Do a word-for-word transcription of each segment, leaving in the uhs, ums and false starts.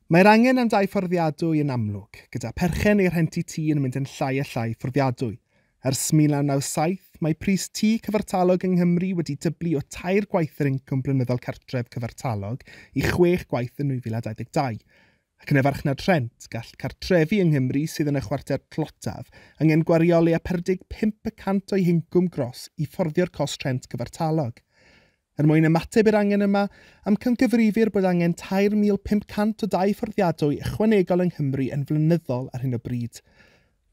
Mae'r angen am dai fforddiadwy yn amlwg, gyda perchen neu rhentu tŷ yn mynd yn llai a llai fforddiadwy. Ers mil naw naw saith, mae pris tŷ cyfartalog yng Nghymru wedi dyblu o tair gwaith yr incwm blynyddol cartref cyfartalog i chwech gwaith yn nwy fil a dau ddeg dau. Ac yn y farchnad rhent, gall cartrefi yng Nghymru sydd yn y chwarter tlotaf angen gwario leia pedwar deg pump y cant o'i hincwm gros i fforddio'r cost rhent cyfartalog. Er mwyn ymateb i'r angen yma, amcangyfrifir bod angen tair mil pump cant o dai fforddiadwy ychwanegol yng Nghymru yn flynyddol ar hyn o bryd.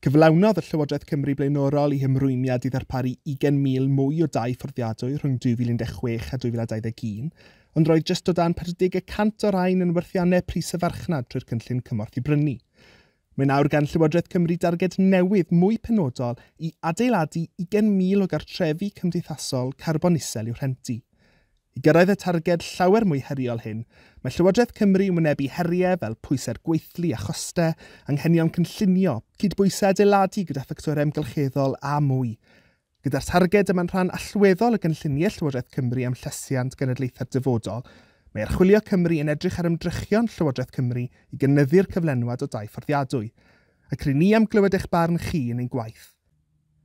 Cyflawnodd y Llywodraeth Cymru blaenorol i hymrwymiad i ddarparu ugain mil mwy o dai fforddiadwy rhwng dwy fil un deg chwech a dwy fil a dau ddeg un, ond roedd jyst o dan pedwar deg y cant o rain yn werthiannau pris y farchnad trwy'r cynllun cymorth i brynu. Mae nawr gan Llywodraeth Cymru darged newydd mwy penodol i adeiladu ugain mil o gartrefi cymdeithasol carbon isel i'w rhentu. I gyrraedd y targed llawer mwy heriol hyn, mae Llywodraeth Cymru yn wynebu heriau fel pwysau'r gweithlu a chostau, anghenion cynllunio, cydbwysau adeiladu gyda ffactorau amgylcheddol a mwy. Gyda'r targed yma'n rhan allweddol o gynlluniau Llywodraeth Cymru am llesiant genedlaethau'r dyfodol, mae Archwilio Cymru yn edrych ar ymdrechion Llywodraeth Cymru i gynyddu'r cyflenwad o dai fforddiadwy. Ac ry'n ni am glywed eich barn chi yn ein gwaith.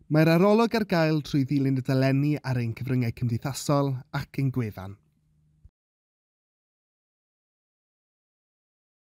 Mae'r arolwg ar gael trwy ddilyn y dolenni ar ein cyfryngau cymdeithasol ac ein gwefan.